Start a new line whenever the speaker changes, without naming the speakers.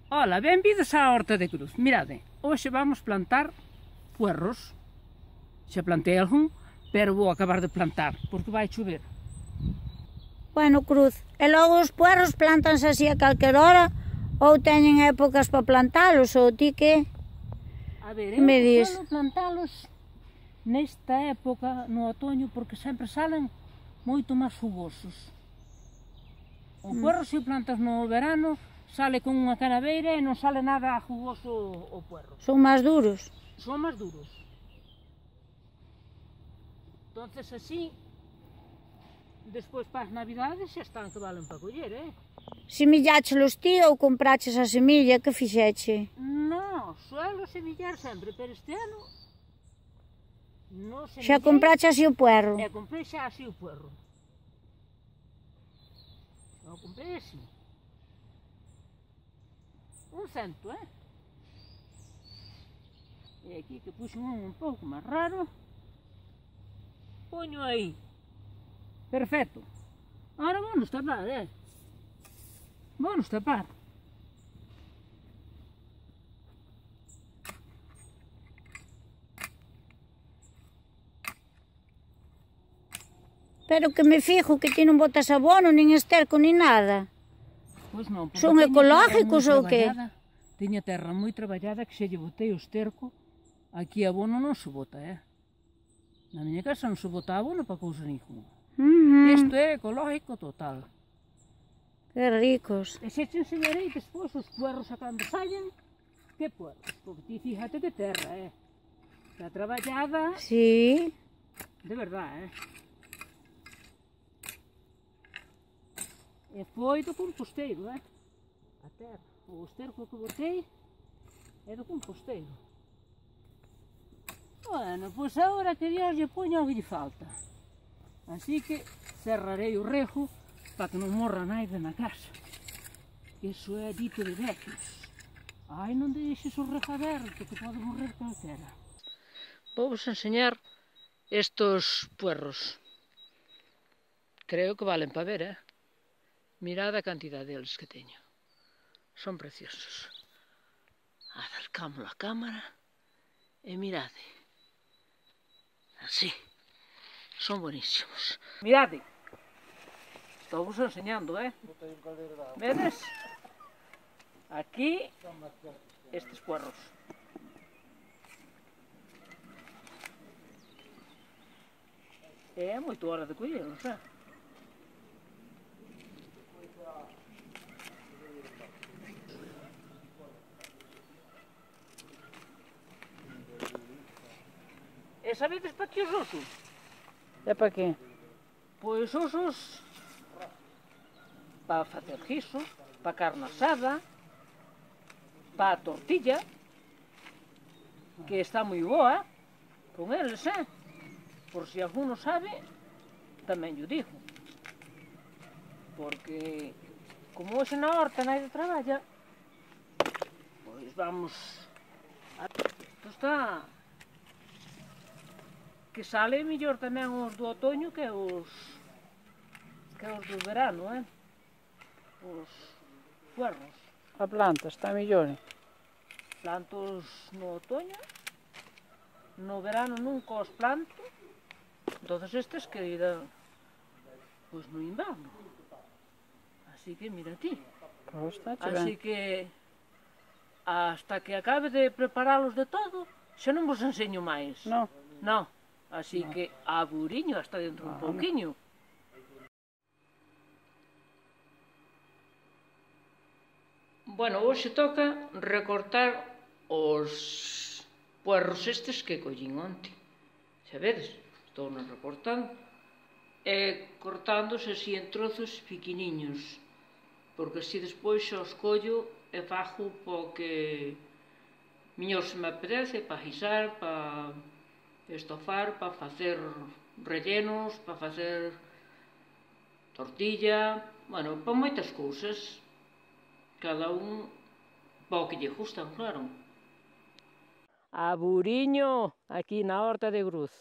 Ola, benvidos á Horta de Cruz. Mirade, hoxe vamos plantar puerros. Xa plantei algún, pero vou acabar de plantar, porque vai chover.
Bueno, Cruz, e logo os puerros plantanse así a calquer hora ou teñen épocas para plantalos, ou ti que?
A ver,
Me
eu
dis.
suelo plantalos nesta época, no otoño, porque sempre salen moito máis jugosos. O puerro, se o plantas no verano, sale con unha canaveira e non sale nada jugoso o puerro.
Son máis duros.
Son máis duros. Entonces así, despois para as navidades xa están que valen para coller,
Semilláchelos ti ou compraches a semilla, que fixeche?
Non, suelo semillar sempre, pero este ano non semillei.
Xa compraches así o puerro?
E comprei xa así o puerro. Xa o comprei así. 100, E aquí que puxen un pouco máis raro, poño aí. Perfecto. Ahora vamos tapar, Vamos tapar.
Pero que me fijo que ti non botas abono, nin esterco, nin nada.
Pois non, porque
Son ecológicos ou que?
Teña terra moi traballada que xa lle botei o esterco. Aquí abono non se bota, Na miña casa non se bota abono para cousa ninguna. Isto é ecológico total.
Que ricos.
E xa te enseñarei despois os puerros a cando saian, que puerros, porque ti fíjate que terra, Está traballada,
Sí.
de verdade, E foi do composteiro, A terra, o esterco que botei é do composteiro. Bueno, pois agora que Dios lle poña o que lle falta. Así que cerrarei o rejo para que non morra naide na casa. Iso é dito de vecios. Ai, non deixes o rejo aberto, que pode morrer calquera. Vou-vos enseñar estos puerros. Creo que valen para ver, Mirad a cantidad deles que teño. Son preciosos. Acercamos a cámara e mirade. Así. Son buenísimos. Mirade. Estou vos enseñando, Vedes? Aquí, estes puerros. É moito hora de collelos, E sabedes para que os uso?
É para qué?
Pois usos para facer guiso, para carne asada, para a tortilla, que está moi boa con eles, Por si algún non sabe, tamén yo digo. Porque, como hoxe na horta naide traballa, pois vamos a... Isto está... Que sale mellor tamén os do otoño que os do verano, Os puerros.
A planta está mellor.
Plantos no otoño, no verano nunca os planto, entonces estes que irán pois no inverno. Así que mira ti. Así que hasta que acabe de preparalos de todo, xa non vos enseño máis.
Non.
Non. Así que a buriño hasta dentro un pouquiño. Bueno, hoxe toca recortar os puerros estes que collín onte. Xa vedes, estou nos recortando e cortándose así en trozos pequeniños, porque así despois xa os collo e fago po que mellor se me apetece, para guisar, para estofar, para facer rellenos, para facer tortilla, bueno, para moitas cousas. Cada un para o que lle gustan, claro. A buriño, aquí na Horta de Cruz.